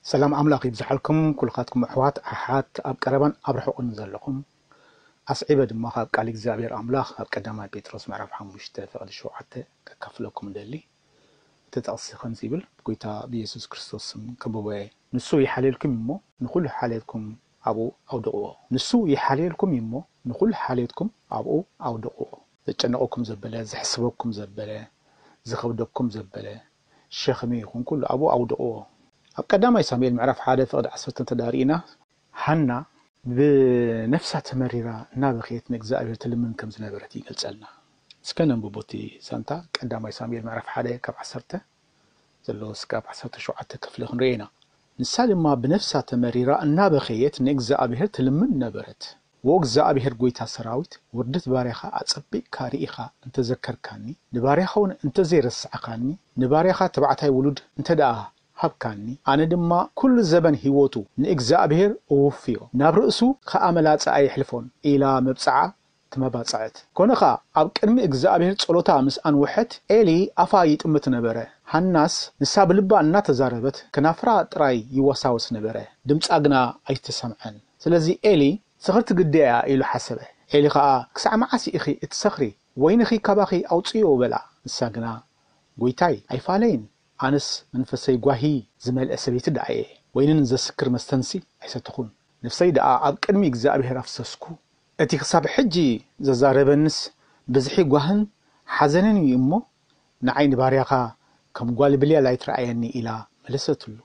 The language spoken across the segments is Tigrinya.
ሰላም ኣምላኽ ይብዝሓልኩም ኩልኻትኩም ኣሕዋት ኣሓት ኣብ ቀረባን ኣብ ርሑቕን ዘለኹም። ኣስዒበ ድማ ካብ ቃል እግዚኣብሔር ኣምላኽ ኣብ ቀዳማይ ጴጥሮስ ምዕራፍ ሓሙሽተ ፍቕዲ ሸውዓተ ከካፍለኩም እደሊ። እቲ ጥቕሲ ከምዚ ይብል፣ ብጎይታ ብየሱስ ክርስቶስ ስም ከብቦ እየ። ንሱ ይሓልየልኩም እሞ ንኹሉ ሓልየትኩም ኣብኡ ኣውድቕዎ። ንሱ ይሓልየልኩም እሞ ንኹሉ ሓልየትኩም ኣብኡ ኣውድቕዎ። ዘጨንቐኩም ዘበለ፣ ዘሕስበኩም ዘበለ፣ ዝኸብደኩም ዘበለ ሸኽሚ ይኹን ኩሉ ኣብኡ ኣውድቕዎ። ኣብ ቀዳማይ ሳሙኤል ምዕራፍ ሓደ ፍቕዲ ዓሰርተ ተዳሪእና፣ ሃና ብነፍሳ ተመሪራ እናበኸየት ንእግዚኣብሔር ትልምን ከም ዝነበረት ይገልጸልና። እስከ ነንብቦ እቲ ዛንታ። ቀዳማይ ሳሙኤል ምዕራፍ ሓደ ካብ ዓሰርተ ዘሎ እስካብ ዓሰርተ ሸውዓተ ክፍሊ ክንርኢ ኢና። ንሳ ድማ ብነፍሳ ተመሪራ እናበኸየት ንእግዚኣብሔር ትልምን ነበረት። "ወእግዚኣብሔር ጐይታ ሰራዊት፣ ውርደት ባርያኻ ኣጸቢቕካ ርኢኻ እንተዘከርካኒ፣ ንባርያኻ እውን እንተዘይረሳዕካኒ፣ ንባርያኻ ተባዕታይ ውሉድ እንተ ደኣ ሃብካኒ፣ ኣነ ድማ ኩሉ ዘበን ህይወቱ ንእግዚኣብሔር እውፍዮ፣ ናብ ርእሱ ኸኣ መላጻ ኣየሕልፎን" ኢላ መብጽዓ ተመባጽዐት። ኮነ ኸኣ፣ ኣብ ቅድሚ እግዚኣብሔር ጸሎታ ምስ ኣንውሐት፣ ኤሊ ኣፋ ይጥምት ነበረ። ሃናስ ንሳ ብልባ እናተዛረበት፣ ከናፍራ ጥራይ ይወሳወስ ነበረ፣ ድምጻ ግና ኣይተሰምዐን። ስለዚ ኤሊ፣ "ስኽርቲ ግዲ እያ" ኢሉ ሓሰበ። ኤሊ ኸኣ፣ "ክሳዕ መዓስ ኢኺ እትሰኽሪ? ወይንኺ ካባኺ ኣውጽእዮ" በላ። ንሳ ግና፣ "ጐይታይ፣ ኣይፋለይን። ኣነስ መንፈሰይ ጓሂ ዝመልአ ሰበይቲ ደኣ እየ። ወይንን ዘስክር መስተንሲ ኣይሰተኹን። ነፍሰይ ደኣ ኣብ ቅድሚ እግዚኣብሔር ኣፍሰስኩ። እቲ ክሳብ ሕጂ ዘዛረበንስ ብዝሒ ጓህን ሓዘንን እዩ እሞ፣ ንዓይ ንባርያኻ ከም ጓል ብልያል ኣይትረኣየኒ" ኢላ መለሰትሉ።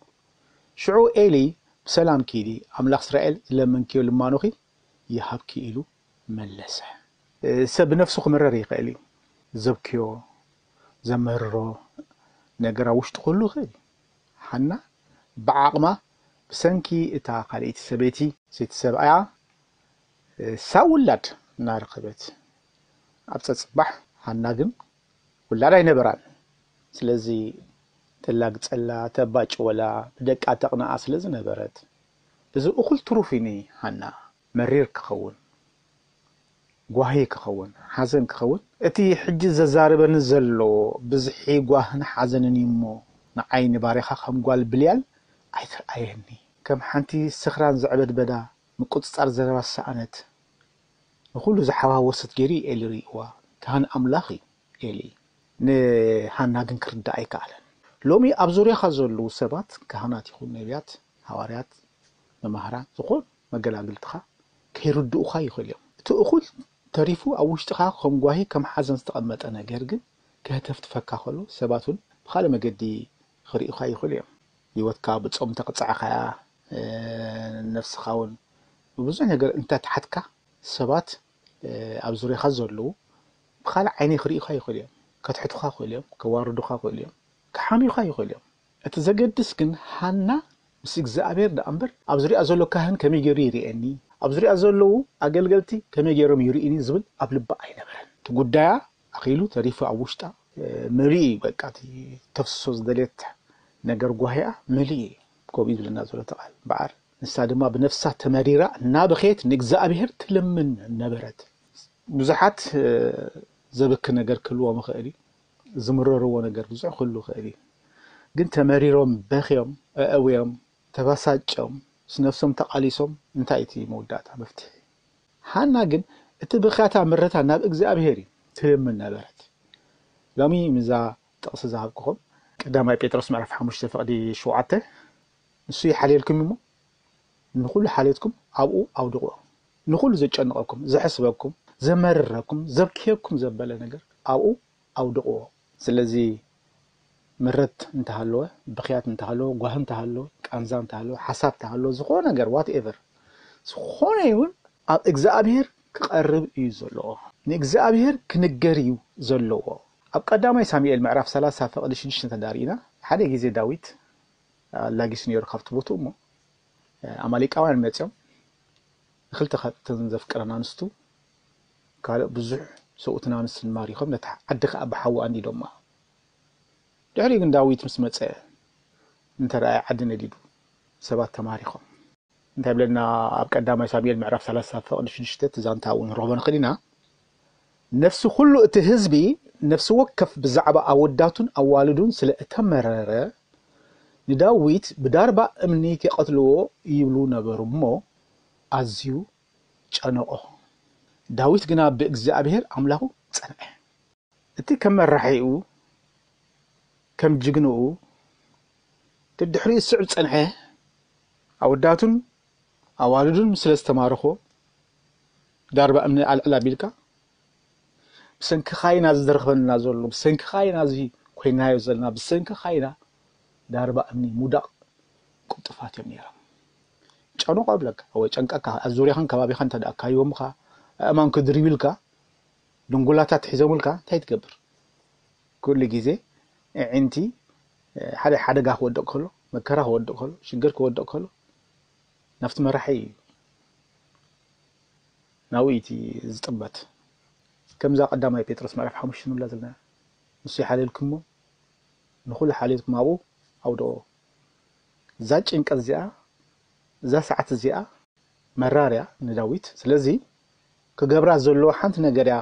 ሽዑ ኤሊ፣ "ብሰላም ኪዲ፣ ኣምላኽ እስራኤል ዝለመንክዮ ልማኖኺ ይሃብኪ" ኢሉ መለሰ። ሰብ ብነፍሱ ክምረር ይኽእል እዩ። ዘብክዮ፣ ዘመርሮ ነገር ኣብ ውሽጡ ክህሉ ይኽእል እዩ። ሓና ብዓቕማ፣ ብሰንኪ እታ ካልኣይቲ ሰበይቲ፣ ሰይቲ ሰብኣያ፣ ሳብ ውላድ እናረኸበት ኣብ ጸጽባሕ፣ ሃና ግን ውላድ ኣይነበራን። ስለዚ ተላግጸላ፣ ተባጭወላ፣ ብደቃ ተቕንኣ ስለ ዝነበረት፣ እዚ እኹል ትሩፍ እዩ ንሃና። መሪር ክኸውን፣ ጓሂ ክኸውን፣ ሓዘን ክኸውን፣ እቲ ሕጂ ዘዛርበኒ ዘሎ ብዝሒ ጓህን ሓዘንን እዩ እሞ፣ ንዓይ ንባርያኻ ከም ጓል ብልያል ኣይትርኣየኒ። ከም ሓንቲ ስኽራን ዘዕበድበዳ፣ ምቁጽጻር ዘረባ ዝሰኣነት፣ ንኹሉ ዝሓዋወሰት ገይሩ እዩ ኤሊ ርእይዋ። ካህን ኣምላኽ እዩ ኤሊ። ንሃና ግን ክርዳእ ኣይከኣለን። ሎሚ ኣብ ዙርያኻ ዘለዉ ሰባት፣ ካህናት ይኹን ነቢያት፣ ሃዋርያት፣ መማህራን፣ ዝኾኑ መገላግልትኻ ከይርድኡኻ ይኽእሉ እዮም። እቲ እኹል ተሪፉ ኣብ ውሽጥኻ ከም ጓሂ፣ ከም ሓዘን ዝተቐመጠ ነገር ግን ከህተፍትፈካ ከሎ፣ ሰባት እውን ብኻልእ መገዲ ክርእዩኻ ይኽእሉ እዮም። ህይወትካ ብጾም እንተቕጻዕኻያ፣ እ፣ ነፍስኻ እውን ብብዙሕ ነገር እንተትሓትካ፣ ሰባት፣ እ፣ ኣብ ዙርያኻ ዘለዉ ብኻልእ ዓይኒ ክርእዩኻ ይኽእሉ እዮም። ከትሕቱኻ ይኽእሉ እዮም፣ ከዋርዱኻ ይኽእሉ እዮም፣ ክሓምዩኻ ይኽእሉ እዮም። እቲ ዘገድስ ግን ሃና ምስ እግዚኣብሔር ደኣ እምበር፣ ኣብ ዙርያ ዘሎ ካህን ከመይ ገይሩ ይርእየኒ፣ ኣብ ዙርያ ዘለዉ ኣገልገልቲ ከመይ ገይሮም ይርእዩኒ ዝብል ኣብ ልባ ኣይነበረን። እቲ ጉዳያ ኣኺሉ ተሪፉ ኣብ ውሽጣ፣ እ፣ መሊኡ እዩ። በቃ እቲ ተፍስሶ ዝደልየት ነገር ጓሂኣ መሊኡ እዩ። ከምኡ እዩ ዝብለና ዘሎ እቲ ቃል እምበኣር። ንሳ ድማ ብነፍሳ ተመሪራ እናበኸየት ንእግዚኣብሔር ትልምን ነበረት። ብዙሓት፣ እ፣ ዘብኪ ነገር ክህልዎም ይኽእል እዩ። ዝምረርዎ ነገር ብዙሕ ክህሉ ይኽእል እዩ። ግን ተመሪሮም፣ በኽዮም፣ ኣእውዮም፣ ተባሳጭዮም፣ ምስ ነፍሶም ተቓሊሶም፣ እንታይ እቲ መወዳእታ መፍትሒ? ሃና ግን እቲ ብኽያታ ምረታ ናብ እግዚኣብሔር እዩ ትልምን ነበረት። ሎሚ ምዛ ጥቕሲ ዝሃብኩኹም፣ ቀዳማይ ጴጥሮስ ምዕራፍ ሓሙሽተ ፍቕዲ ሸውዓተ፣ "ንሱ ይሓልየልኩም እሞ፣ ንኹሉ ሓልየትኩም ኣብኡ ኣውድቕዎ። ንኹሉ ዘጨንቐኩም፣ ዘሕስበኩም፣ ዘመርረኩም፣ ዘብክየኩም ዘበለ ነገር ኣብኡ ኣውድቕዎ።" ስለዚ ምረት እንተሃለወ፣ ብኽያት እንተሃለወ፣ ጓሂ እንተሃለወ፣ ቃንዛ እንተሃለወ፣ ሓሳብ እንተሃለወ፣ ዝኾነ ነገር፣ ዋትኤቨር፣ ዝኾነ ይሁን፣ ኣብ እግዚኣብሔር ክቐርብ እዩ ዘለዎ። ንእግዚኣብሔር ክንገር እዩ ዘለዎ። ኣብ ቀዳማይ ሳሙኤል ምዕራፍ ሰላሳ ፍቕዲ ሽዱሽተ ተዳሪእና፣ ሓደ ግዜ ዳዊት ኣላጊሱ ነይሩ ካብቲ ቦትኡ እሞ፣ ኣማሌቃውያን መጺኦም፣ ንኽልተ ካብተን ዘፍቅረን ኣንስቱ፣ ካልእ ብዙሕ ሰብኡትን ኣንስትን ማሪኾም፣ ነታ ዓዲ ኸኣ ብሓዊ ኣንዲዶማ። ድሕሪኡ ግን ዳዊት ምስ መጸ፣ እንተ ረኣየ ዓዲ ነዲዱ፣ ሰባት ተማሪኾም። እንታይ ይብለና ኣብ ቀዳማይ ሳሙኤል ምዕራፍ ሰላሳ ፍቕዲ ሽዱሽተ፣ እቲ ዛንታ እውን ንረኽቦ ንኽእል ኢና። ነፍሲ ኩሉ እቲ ህዝቢ፣ ነፍሲ ወከፍ ብዛዕባ ኣወዳቱን ኣዋልዱን ስለ እተመረረ፣ ንዳዊት ብዳርባ እምኒ ኪቐትልዎ ይብሉ ነበሩ እሞ፣ ኣዝዩ ጨነቖ። ዳዊት ግና ብእግዚኣብሔር ኣምላኹ ጸንዐ። እቲ ከም መራሒኡ፣ ከም ጅግንኡ፣ ደድሕሪኡ ዝስዕብ ዝጸንሐ ኣወዳቱን ኣዋልዱን ስለ ዝተማረኾ፣ ዳርባ እምኒ ኣልዕል ኣቢልካ፣ ብሰንክኻ ኢና እዚ ዝረኽበና ዘሎ፣ ብሰንክኻ ኢና እዚ ኮይናዮ ዘለና፣ ብሰንክኻ ኢና ዳርባ እምኒ ምውዳቕ ቅልጡፋት እዮም ነይሮም። ጨንቆ እብለካ ወይ ጨንቀካ፣ ኣብ ዙርያኻን ከባቢኻን እንተ ደኣ ኣካይቦምኻ፣ ኣእማን ክድርብልካ፣ ድንጉላታት ሒዞምልካ እንታይ ትገብር? ኩሉ ግዜ ኣዒንቲ ሓደ ሓደጋ ክወድቕ ከሎ፣ መከራ ክወድቕ ከሎ፣ ሽግር ክወድቕ ከሎ ናብቲ መራሒ እዩ፣ ናብኡ እቲ ዝጥመት። ከምዛ ቀዳማይ ጴጥሮስ ምዕራፍ ሓሙሽተ ንብላ ዘለና፣ ንሱ ይሓልየልኩሞ፣ ንኹሉ ሓልየልኩም ኣብኡ ኣውድኦ። እዛ ጭንቀት እዚኣ፣ እዛ ሰዓት እዚኣ መራር እያ ንዳዊት። ስለዚ ክገብራ ዘለዎ ሓንቲ ነገር እያ፣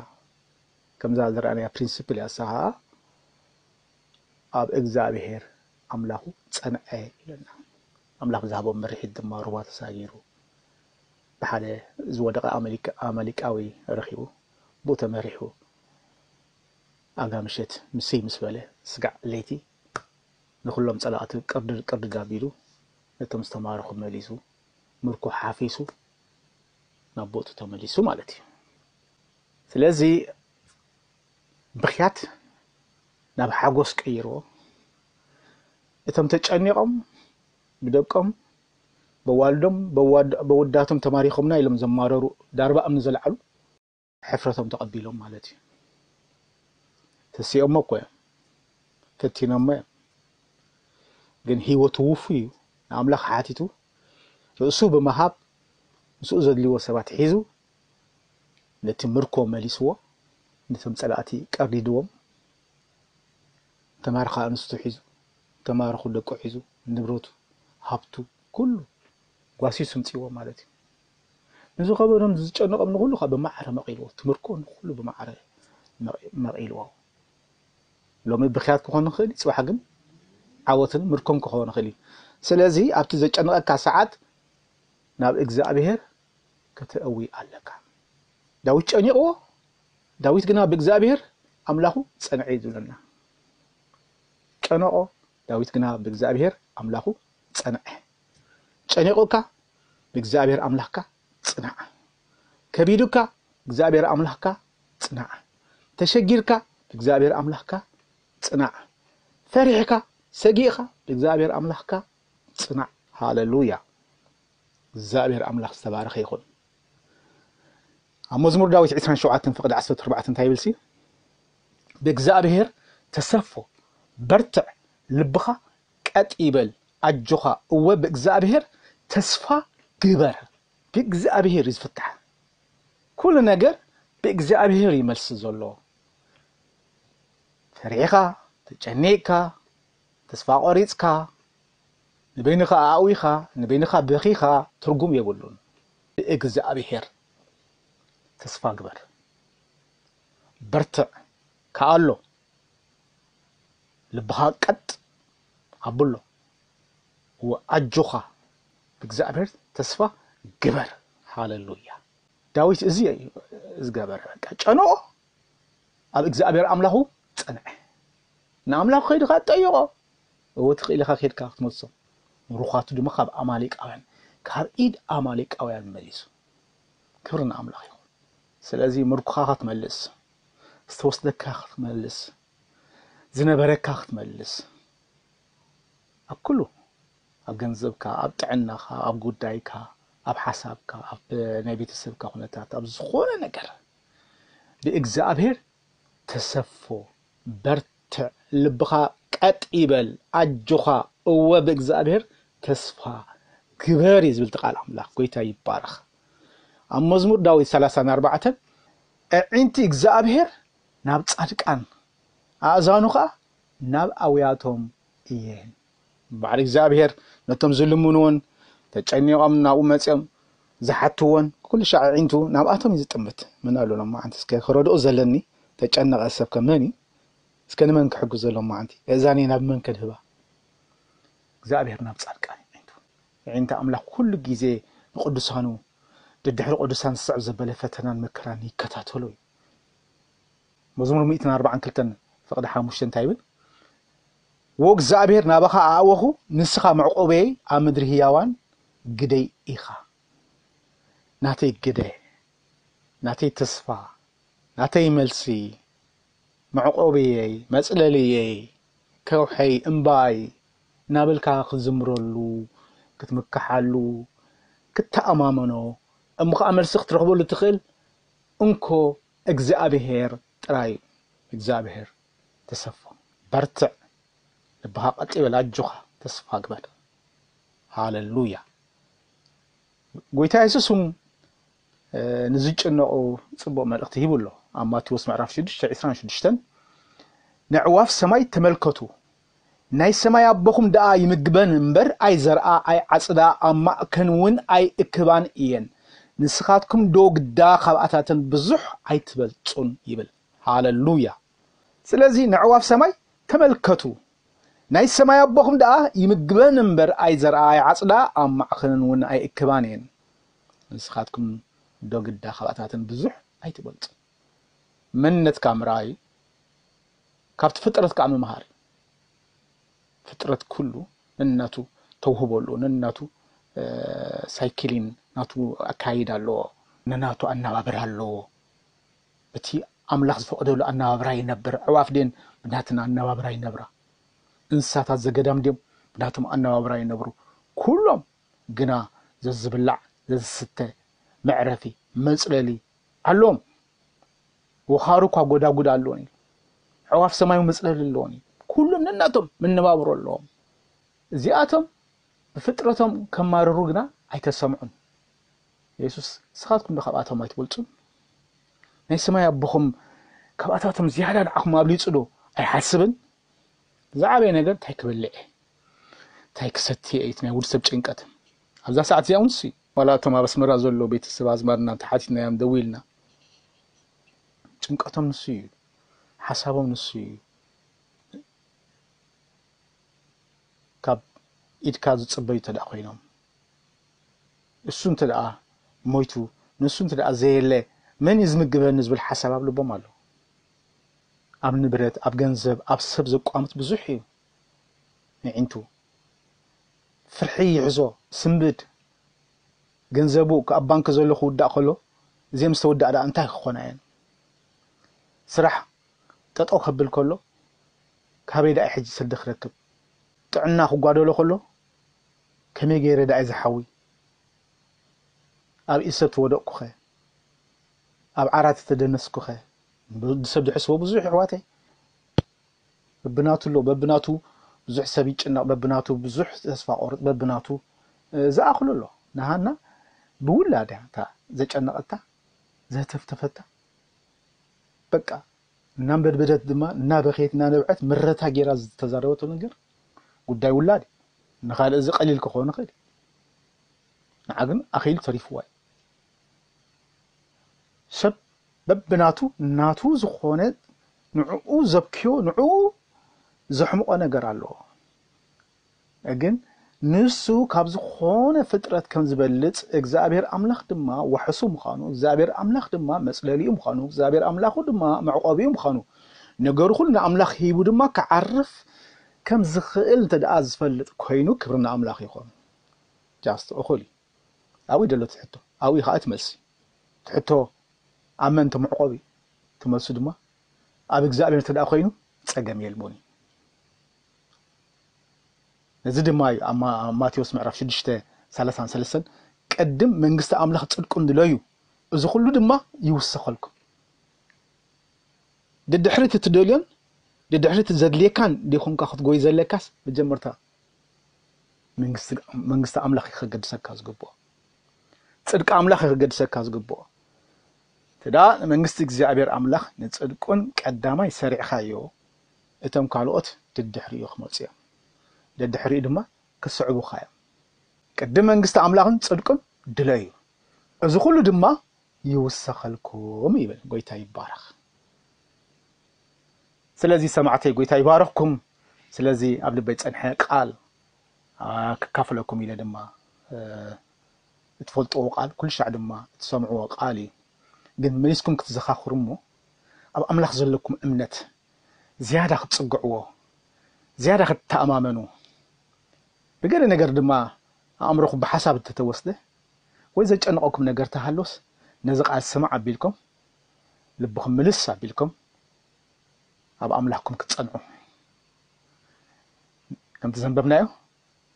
ከምዛ ዝረኣናያ ፕሪንሲፕል እያ። እሳ ኸኣ ኣብ እግዚኣብሔር ኣምላኹ ጸንዐ ኢለና። ኣምላኽ ዝሃቦ ምርሒት ድማ ሩባ ተሳጊሩ ብሓደ ዝወደቐ ኣመሊካ-፣ ኣማሊቃዊ ረኺቡ፣ ብኡ ተመሪሑ ኣጋ ምሸት ምስይ ምስ በለ ስጋዕ ለይቲ ንኹሎም ጸላእቲ ቅርድድ ቅርድድ ኣቢሉ ነቶም ዝተማረኹ መሊሱ፣ ምርኮ ሓፊሱ ናብ ቦቱ ተመሊሱ ማለት እዩ። ስለዚ ብኽያት ናብ ሓጎስ ቀይርዎ። እቶም ተጨኒቖም ብደቆም፣ በዋልዶም፣ በዋድ-፣ በወዳቶም ተማሪኾምና ኢሎም ዘማረሩ ዳርባ እምኒ ዘልዓሉ ሕፍረቶም ተቐቢሎም ማለት እዩ። ተሲኦሞ እኮ እዮም፣ ፈቲኖሞ እዮም። ግን ህይወቱ ውፉይ እዩ። ንኣምላኽ ሓቲቱ ርእሱ ብምሃብ ምስኡ ዘድልይዎ ሰባት ሒዙ ነቲ ምርኮ መሊስዎ፣ ነቶም ጸላእቲ ቀርዲድዎም፣ ተማርኻ ኣንስቱ ሒዙ፣ ተማርኹ ደቁ ሒዙ፣ ንብረቱ፣ ሃብቱ፣ ኩሉ ጓሲሱ ምጽእዎ ማለት እዩ። ንዝኸበዶም ዝጨነቖም ንኹሉ ካብ ብማዕረ መቒልዎ፣ እቲ ምርኮ ንኹሉ ብማዕረ መቒ-፣ መቒልዎ። ሎሚ ብኽያት ክኾን ንኽእል፣ ጽባሕ ግን ዓወትን ምርኮን ክኸውን ንኽእል እዩ። ስለዚ ኣብቲ ዘጨንቐካ ሰዓት ናብ እግዚኣብሔር ከተእዊ ኣለካ። ዳዊት ጨኒቕዎ፣ ዳዊት ግና ብእግዚኣብሔር ኣምላኹ ጸንዐ እዩ ዝብለና። ጨነቖ፣ ዳዊት ግና ብእግዚኣብሔር ኣምላኹ ጸንዐ። ጨኒቑካ፣ ብእግዚኣብሔር ኣምላኽካ ጽናዕ። ከቢዱካ፣ ብእግዚኣብሔር ኣምላኽካ ጽናዕ። ተሸጊርካ፣ ብእግዚኣብሔር ኣምላኽካ ጽናዕ። ፈሪሕካ፣ ሰጊእኻ፣ ብእግዚኣብሔር ኣምላኽካ ጽናዕ። ሃሌሉያ። እግዚኣብሔር ኣምላኽ ዝተባረኸ ይኹን። ኣብ መዝሙር ዳዊት ዕስራን ሸውዓተን ፍቕዲ ዓሰርተ ኣርባዕተ እንታይ ይብል ሲ? "ብእግዚኣብሔር ተሰፎ፣ በርትዕ፣ ልብኻ ቀጥ ይበል፣ ኣጆኻ፣ እወ ብእግዚኣብሔር ተስፋ ግበር።" ብእግዚኣብሔር እዩ ዝፍታሕ። ኩሉ ነገር ብእግዚኣብሔር እዩ መልሲ ዘሎ። ፈሪሕኻ፣ ተጨኒቕካ፣ ተስፋ ቆሪጽካ፣ ንበይንኻ ኣእዊኻ፣ ንበይንኻ በኺኻ ትርጉም የብሉን። ብእግዚኣብሔር ተስፋ ግበር። በርትዕ ከኣ ኣሎ። ልብኻ ቀጥ ኣብሎ። ወኣጆኻ ብእግዚኣብሔር ተስፋ ግበር። ሃሌሉያ። ዳዊት እዚ እዩ ዝገበረ። በቃ ጨነቆ፣ ኣብ እግዚኣብሔር ኣምላኹ ጸንዐ። ንኣምላኹ ከይድኻ ጠይቆ። እወ ትኽእል ኢኻ ከይድካ ክትመልሶ። ምሩኻቱ ድማ ካብ ኣማሌቃውያን፣ ካብ ኢድ ኣማሌቃውያን መሊሱ። ክብሪ ንኣምላኽ ይኹን። ስለዚ ምርኮኻ ክትመልስ፣ ዝተወስደካ ክትመልስ፣ ዝነበረካ ክትመልስ፣ ኣብ ኩሉ፣ ኣብ ገንዘብካ፣ ኣብ ጥዕናኻ፣ ኣብ ጉዳይካ፣ ኣብ ሓሳብካ፣ ኣብ ናይ ቤተሰብካ ኩነታት፣ ኣብ ዝኾነ ነገር ብእግዚኣብሔር ተሰፎ፣ በርትዕ፣ ልብኻ ቀጥ ይበል፣ ኣጆኻ፣ እወ ብእግዚኣብሔር ተስፋ ግበር እዩ ዝብል እቲ ቃል ኣምላኽ። ጎይታ ይባረኽ። ኣብ መዝሙር ዳዊት ሰላሳን ኣርባዕተን፣ "ኣዒንቲ እግዚኣብሔር ናብ ጻድቃን፣ ኣእዛኑ ኸኣ ናብ ኣውያቶም እየን።" በዓል እግዚኣብሔር ነቶም ዝልምንዎን ተጨኒቖም ናብኡ መጺኦም ዝሓትዎን ኩሉ ሻዕ ኣዒንቱ ናብኣቶም እዩ ዝጥምት። መን ኣሎ ሎማዓንቲ እስከ ክረድኦ ዘለኒ? ተጨነቐ ሰብ ከ መን እዩ? እስከ ንመን ክሕግዞ ሎማዓንቲ? እዛኒ ናብ መን ከድህባ? እግዚኣብሔር ናብ ጻድቃን ይዕንቱ። ይዕንታ ኣምላኽ ኩሉ ግዜ ንቅዱሳኑ፣ ድድሕሪ ቅዱሳን ዝስዕብ ዘበለ ፈተናን መከራን ይከታተሎ እዩ። መዝሙር ሚእትን ኣርባዓን ክልተን ፍቕዲ ሓሙሽተ እንታይ ይብል? "ወእግዚኣብሔር ናባኻ ኣእወኹ፣ ንስኻ መዕቆበየይ ኣብ ምድሪ ህያዋን ግደይ ኢኻ። ናተይ ግደ፣ ናተይ ተስፋ፣ ናተይ መልሲ፣ መዕቆብየይ፣ መጽለልየይ፣ ከውሐይ፣ እምባይ" እናበልካ ክትዝምረሉ፣ ክትምክሓሉ፣ ክትተኣማመኖ፣ እሞ ኸዓ መልሲ ክትረኽበሉ ትኽእል እንኮ እግዚኣብሔር ጥራይ እዩ። እግዚኣብሔር ተሰፎ፣ በርትዕ፣ ልብኻ ቀጥ ይበል፣ ኣጆኻ፣ ተስፋ ግበር። ሃለሉያ። ጎይታ የሱስ እውን ንዝጭነቑ ጽቡቕ መልእኽቲ ሂቡ ኣሎ። ኣብ ማቴዎስ ምዕራፍ ሽዱሽተ ዕስራን ሽዱሽተን፣ "ነዕዋፍ ሰማይ ተመልከቱ፣ ናይ ሰማይ ኣቦኹም ደኣ ይምግበን እምበር ኣይዘርኣ ኣይዓጽዳ፣ ኣብ ማእከን እውን ኣይእክባን እየን። ንስኻትኩም ዶ ግዳ ካብኣታተን ብዙሕ ኣይትበልጹን?" ይብል። ሃለሉያ። ስለዚ ነዕዋፍ ሰማይ ተመልከቱ፣ ናይ ሰማይ ኣቦኹም ደኣ ይምግበን እምበር ኣይዘርኣ ኣይዓጽዳ፣ ኣብ ማእከነን እውን ኣይእክባን እየን። ንስኻትኩም ዶ ግዳ ካብኣታተን ብዙሕ ኣይትበልጹ? መንነትካ ምርኣይ ካብቲ ፍጥረት ከዓ ምምሃር እዩ። ፍጥረት ኩሉ ነናቱ ተውህቦ ኣለዎ፣ ነናቱ ሳይክሊን ናቱ ኣካይዳ ኣለዎ፣ ነናቱ ኣነባብራ ኣለዎ። እቲ ኣምላኽ ዝፈቐደሉ ኣነባብራ ይነብር። ኣዕዋፍ ድን ብናተን ኣነባብራ ይነብራ፣ እንስሳታት ዘገዳም ድም ብናቶም ኣነባብራ ይነብሩ። ኩሎም ግና ዘዝብላዕ፣ ዘዝስተ፣ መዕረፊ፣ መጽለሊ ኣለዎም። ወኻሩ እኳ ጎዳጉድ ኣለዎም እዩ። ኣዕዋፍ ሰማይ መጽለሊ ኣለዎም እዩ። ኩሎም ነናቶም መነባብሮ ኣለዎም። እዚኣቶም ብፍጥረቶም ከማርሩ ግና ኣይተሰምዑን። የሱስ፣ "ንስኻትኩም ዶ ካብኣቶም ኣይትበልጹን? ናይ ሰማይ ኣቦኹም ካብኣታቶም ዝያዳ ንዓኹም ኣብሊጹ ዶ ኣይሓስብን?" ዝዓበየ ነገር እንታይ ክበልዕ እየ? እንታይ ክሰቲ እየ? እቲ ናይ ውድ ሰብ ጭንቀት። ኣብዛ ሰዓት እዚኣ እውን እሱ እዩ። ዋላ እቶም ኣብ ኣስመራ ዘሎ ቤተሰብ ኣዝማድና እንተሓቲትናዮም፣ ደዊልና፣ ጭንቀቶም ንሱ እዩ። ሓሳቦም ንሱ እዩ። ካብ ኢድካ ዝጽበዩ እንተ ደኣ ኮይኖም፣ እሱ እንተ ደኣ ሞይቱ፣ ንሱ እንተ ደኣ ዘየለ፣ መን እዩ ዝምግበኒ ዝብል ሓሳብ ኣብ ልቦም ኣሎ። ኣብ ንብረት፣ ኣብ ገንዘብ፣ ኣብ ሰብ ዘቋምት ብዙሕ እዩ። ንዒንቱ ፍርሒ ይሕዞ፣ ስንብድ። ገንዘቡ ኣብ ባንክ ዘሎ ክውዳእ ከሎ፣ እዚኦም ዝተወዳእ ደኣ እንታይ ክኾና እየን? ስራሕ ጠጠው ከብል ከሎ፣ ካበይ ደኣ ሕጂ ስዲ ክረክብ? ጥዕና ክጓደሎ ከሎ፣ ከመይ ገይረ ደኣ ዝሓዊ? ኣብ ኢድ ሰብ ተወደቕኩኸ? ኣብ ዓራት ተደነስኩኸ? ብ-፣ ሰብ ዝሕስቦ ብዙሕ፣ ኣሕዋተይ። በብናቱ ኣሎ፣ በብናቱ ብዙሕ ሰብ ይጭነቕ፣ በብናቱ ብዙሕ ተስፋ ቆርጥ፣ በብናቱ፣ እ፣ ዝኣኽሎ ኣሎ። ንሃና ብውላዳ እታ ዘጨነቐታ፣ ዘተፍተፈታ፣ በቃ፣ እናንበድበደት ድማ፣ እናበኸየት፣ እናነብዐት፣ ምረታ ጌራ ዝተዛረበቶ ነገር ጉዳይ ውላድ እዩ። ንኻልእ እዚ ቀሊል ክኸውን ይኽእል እዩ። ንዓ ግን ኣኺሉ ተሪፍዋ እዩ። ሰብ በብናቱ፣ ናቱ ዝኾነ፣ ንዕኡ ዘብክዮ፣ ንዕኡ ዘሕምቖ ነገር ኣለዎ። ግን ንሱ ካብ ዝኾነ ፍጥረት ከም ዝበልጽ፣ እግዚኣብሔር ኣምላኽ ድማ ዋሕሱ ምዃኑ፣ እግዚኣብሔር ኣምላኽ ድማ መጽለሊኡ ምዃኑ፣ እግዚኣብሔር ኣምላኹ ድማ መዕቆቢኡ ምዃኑ፣ ነገሩ ኩሉ ንኣምላኽ ሂቡ ድማ ክዓርፍ ከም ዝኽእል እንተ ደኣ ዝፈልጥ ኮይኑ፣ ክብሪ ንኣምላኽ ይኹን። ጃስት እኹል እዩ። ኣብኡ እዩ ዘሎ እቲ ሕቶ። ኣብኡ እዩ ከዓ እቲ መልሲ። እቲ ሕቶ ኣብ መን ተመዕቆቢ? እቲ መልሱ ድማ ኣብ እግዚኣብሔር እንተ ደኣ ኮይኑ ጸገም የልቦን እዩ። ነዚ ድማ እዩ ኣብ ማ-፣ ኣብ ማቴዎስ ምዕራፍ ሽዱሽተ ሰላሳን ሰለስተን፣ "ቅድም መንግስቲ ኣምላኽ ጽድቁን ድለዩ፣ እዚ ኩሉ ድማ ይውሰኸልኩም።" ድድሕሪ እቲ ትደልዮን ድድሕሪ እቲ ዘድልየካን ዲኹምካ ክትጎይ ዘለካስ፣ መጀመርታ መንግስቲ፣ መንግስቲ ኣምላኽ እዩ ከገድሰካ ዝግብኦ። ጽድቂ ኣምላኽ እዩ ከገድሰካ ዝግብኦ። እቲ ደኣ ንመንግስቲ እግዚኣብሔር ኣምላኽ ንጽድቁን ቀዳማይ ሰሪዕካዮ፣ እቶም ካልኦት ድድሕሪኡ ክመጹ እዮም። ደድሕሪኡ ድማ ክስዕቡኻ እዮም። ቅድም መንግስቲ ኣምላኽን ጽድቁን ድለዩ፣ እዚ ኩሉ ድማ ይውሰኸልኩም ይብል። ጎይታ ይባረኽ። ስለዚ ሰማዕተይ፣ ጎይታ ይባረኽኩም። ስለዚ ኣብ ልበይ ጸንሐ ቃል ክካፈለኩም ኢለ ድማ እትፈልጥዎ ቃል ኩሉ ሻዕ ድማ እትሰምዕዎ ቃል እዩ። ግን መሊስኩም ክትዘኻኽሩ እሞ ኣብ ኣምላኽ ዘለኩም እምነት ዝያዳ ክትጽግዕዎ፣ ዝያዳ ክትተኣማመኑ፣ ብገለ ነገር ድማ ኣእምሮኹም ብሓሳብ እንተተወስደ ወይ ዘጨንቐኩም ነገር ተሃሎስ ነዚ ቃል ስማዕ ኣቢልኩም ልብኹም ምልስ ኣቢልኩም ኣብ ኣምላኽኩም ክትጸንዑ ከምቲ ዘንበብናዮ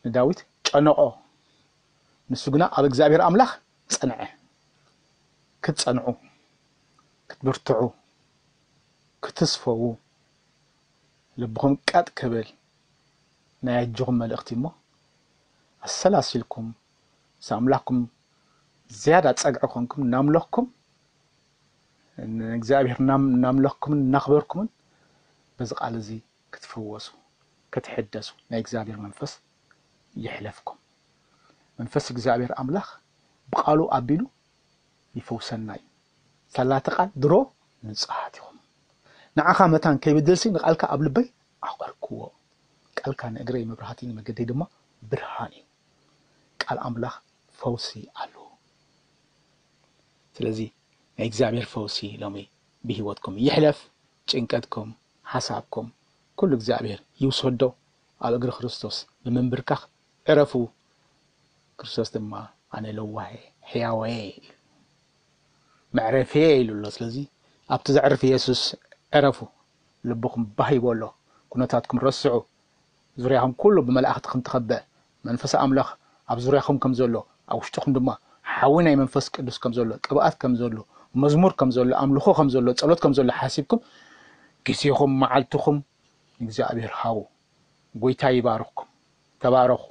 ንዳዊት ጨነቆ፣ ንሱ ግና ኣብ እግዚኣብሔር ኣምላኽ ጸንዐ። ክትጸንዑ፣ ክትብርትዑ፣ ክትስፈዉ፣ ልብኹም ቀጥ ክብል ናይ ኣጆኹም መልእኽቲ እሞ ኣሰላሲልኩም ምስ ኣምላኽኩም ዝያዳ ጸግዒ ኮንኩም እናምለኽኩም ንእግዚኣብሔር እናምለኽኩምን እናኽበርኩምን በዚ ቃል እዚ ክትፍወሱ ክትሕደሱ ናይ እግዚኣብሔር መንፈስ ይሕለፍኩም። መንፈስ እግዚኣብሔር ኣምላኽ ብቃሉ ኣቢሉ ይፈውሰና እዩ። ሳላቲ ቃል ድሮ ንጹሃት ኢኹም። ንዓኻ መታን ከይብድልሲ ንቃልካ ኣብ ልበይ ኣቐርክዎ። ቃልካ ንእግረይ መብራህቲ ንመገደይ ድማ ብርሃን እዩ። ቃል ኣምላኽ ፈውሲ ኣለዎ። ስለዚ ናይ እግዚኣብሔር ፈውሲ ሎሚ ብህይወትኩም ይሕለፍ። ጭንቀትኩም፣ ሓሳብኩም ኩሉ እግዚኣብሔር ይውሰዶ። ኣብ እግሪ ክርስቶስ ብምንብርካኽ ዕረፉ። ክርስቶስ ድማ ኣነ ለዋሄ ሕያወየ ኢሉ መዕረፍየ ኢሉ ኣሎ። ስለዚ ኣብቲ ዘዕርፍ ኢየሱስ ዕረፉ። ልብኹም ባህ ይበሎ። ኩነታትኩም ረስዑ። ዙርያኹም ኩሉ ብመላእኽቲ ከም ተኸበ መንፈስ ኣምላኽ ኣብ ዙርያኹም ከም ዘሎ ኣብ ውሽጥኹም ድማ ሓዊ ናይ መንፈስ ቅዱስ ከም ዘሎ ቅብኣት ከም ዘሎ መዝሙር ከም ዘሎ ኣምልኾ ከም ዘሎ ጸሎት ከም ዘሎ ሓሲብኩም ግዜኹም መዓልትኹም እግዚኣብሔር ሃቡ። ጎይታ ይባርኽኩም። ተባረኹ።